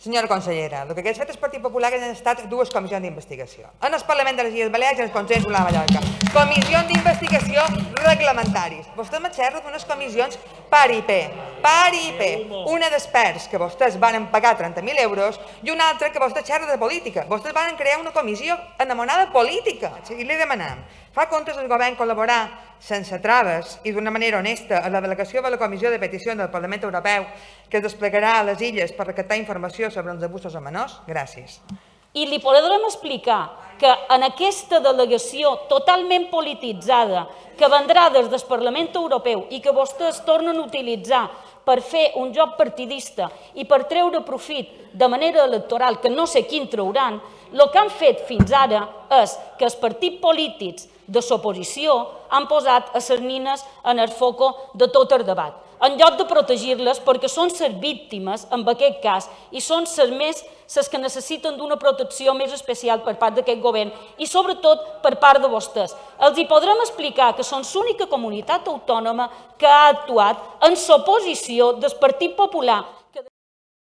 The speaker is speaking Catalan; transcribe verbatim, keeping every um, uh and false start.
Senyora consellera, el que hagués fet el Partit Popular han estat dues comissions d'investigació. En el Parlament de les Illes Balears i en el Consell de la Mallorca. Comissions d'investigació reglamentaris. Vostè me xerra d'unes comissions paripé, paripé. Una d'experts que vostès van pagar trenta mil euros i una altra que vostè xerra de política. Vostès van crear una comissió enamorada política. I li demanem, fa comptes el govern col·laborar sense traves i d'una manera honesta a la delegació de la Comissió de Peticions del Parlament Europeu que es desplegarà a les illes per recaptar informació sobre els abusos a menors? Gràcies. I li podrem explicar que en aquesta delegació totalment polititzada que vendrà des del Parlament Europeu i que vostès tornen a utilitzar per fer un joc partidista i per treure profit de manera electoral, que no sé quin trauran, el que han fet fins ara és que els partits polítics de l'oposició han posat a les nines en el foco de tot el debat, en lloc de protegir-les perquè són les víctimes, en aquest cas, i són les més les que necessiten d'una protecció més especial per part d'aquest govern i sobretot per part de vostès. Els hi podrem explicar que són l'única comunitat autònoma que ha actuat en l'oposició del Partit Popular